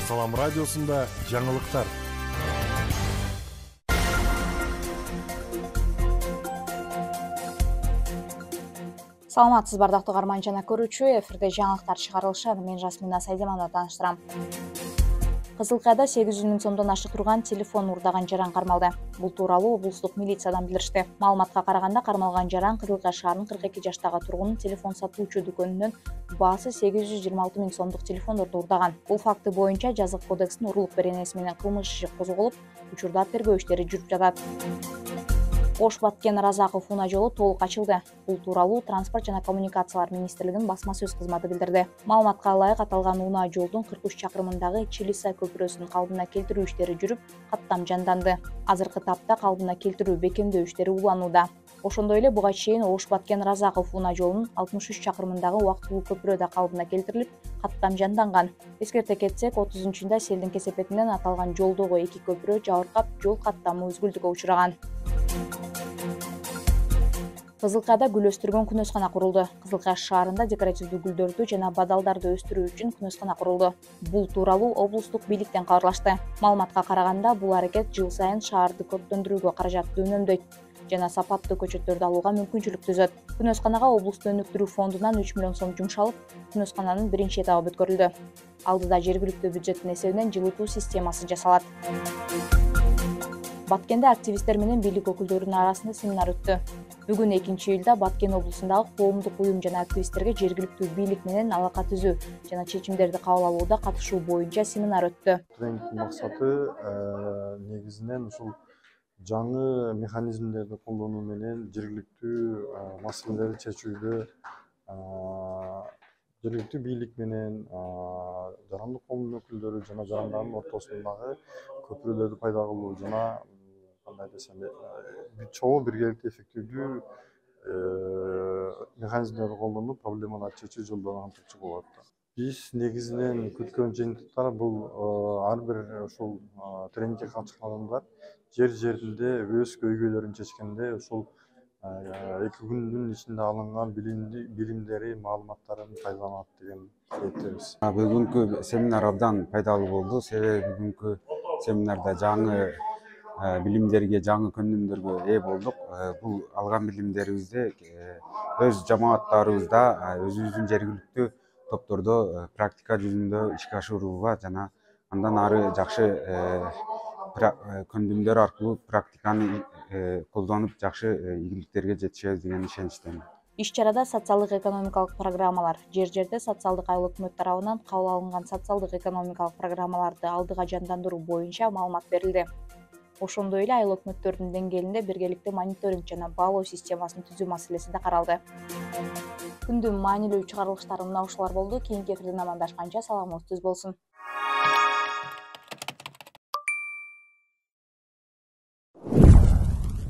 Салам радиосунда жаңылыктар. Саламатсыз бардактуу каарман жана көрүүчү, эфирде жаңылыктар чыгарылышат. Мен Жасмина Сайдеманова тааныштырам. Кызыл Кайда 800 миң сомдон ашык турган телефон уурдаган жаран кармалды. Бул тууралуу облустук милициядан билдиришти. Маалыматка караганда, кармалган жаран Кызыл Кай шаарынын 42 жаштагы тургунун телефон сатуучу дүкөнүнөн баасы 826 миң сомдук телефондорду уурдаган. Бул факты боюнча Жазык кодексинин урлук беренеси менен кылмыш иши козголуп, учурда тергөө иштери жүрүп жатат. Ош Баткен Разаков унаа жолу толук ачылды. Бул тууралуу Транспорт жана коммуникациялар министрлигинин басма сөз кызматы билдирди. Маалыматка ылайык, аталган унаа жолдун 43 чакырымындагы Чилиса көпүрөсүн калыбына келтирүү иштери жүрүп, каттам жанданды. Азыркы тапта калыбына келтирүү бекемдөө иштери уланууда. Ошондой эле буга чейин Ош Баткен Разаков унаа жолунун 63 чакырымындагы убактылуу көпүрө да калыбына келтирилип, каттам жанданган. Эскерте кетсек, 30-да селдин кесепетинен аталган жолдогу эки көпүрө жабыркап, жол каттамы үзгүлтүккө учураган. Кызыл Кайда гүл өстүргөн күнөскана курулду. Кызыл Кай шаарында декоративдүү гүлдөрдү жана бадалдарды өстүрүү үчүн күнөскана курулду. Бул тууралуу облустук бийликтен кабарлашты. Маалыматка караганда, бул аракет жыл сайын шаарды көркөндүрүүгө каражатты үнөмдөйт жана сапаттуу көчөттөрдү алууга мүмкүнчүлүк түзөт. Күнөсканага облустун өнүктүрүү фондунан 3 миллион сом жумшалып, күнөскананын биринчи этабы өткөрүлдү. Алдыда жергиликтүү бюджеттин эсебинен жылытуу системасы жасалат. Баткенде активисттер менен бийлик өкүлдөрүнүн арасында семинар өттү. Бүгүн 2-июлда Баткен облусундагы коомдук уюм жана активисттерге жергиликтүү бийлик менен алака түзүү жана чечимдерди кабыл алууда катышуу боюнча семинар өттү. Тренингдин максаты негизинен ушул жаңы механизмдерди колдонуу менен жергиликтүү маселелерди чечүүдө жергиликтүү бийлик менен жарандык коомдун өкүлдөрү жана жарандардын ортосундагы көпүрөлөрдү пайда кылуу жана кандай десем, чогуу биргеликте эффективдүү механизмдерди колдонуп, проблемаларды чечүү жолдорун антырчу болот. Биз негизинен күткөн жыйынтыктар бул ар бир ушул тренингге катышкан адамдар жеринде өз көйгөйлөрүн чечкенде ушул 2 күндүн ичинде алынган билимдери, маалыматтарын пайдаланат деген ниеттебиз. Бүгүнкү семинар абдан пайдалуу болду. Себеби бүгүнкү семинарда жаңы билимдерге, жаңы көндүмдөргө ээ болдук. Бул алган билимдерибизди өз жамааттарыбызда, өзүбүздүн жергиликтүү топтордо практика жүзүндө ишке ашырууга жана андан ары жакшы көндүмдөр аркылуу практиканы колдонуп жакшы ийгиликтерге жетишебиз деген ишеничтемин. Иш-чарада социалдык экономикалык программалар, жер-жерде социалдык айыл өкмөт тарабынан кабыл алынган социалдык экономикалык программаларды алдыга жандандыруу боюнча маалымат берилди. Ошондой эле айыл өкмөттөрдүн деңгээлинде биргеликте мониторинг жана баалоо системасын түзүү маселеси да каралды. Күндүн маанилүү чыгарылыштары мына ушулар болду. Кийинки эфирден амандашканча саламыңыз түз болсун.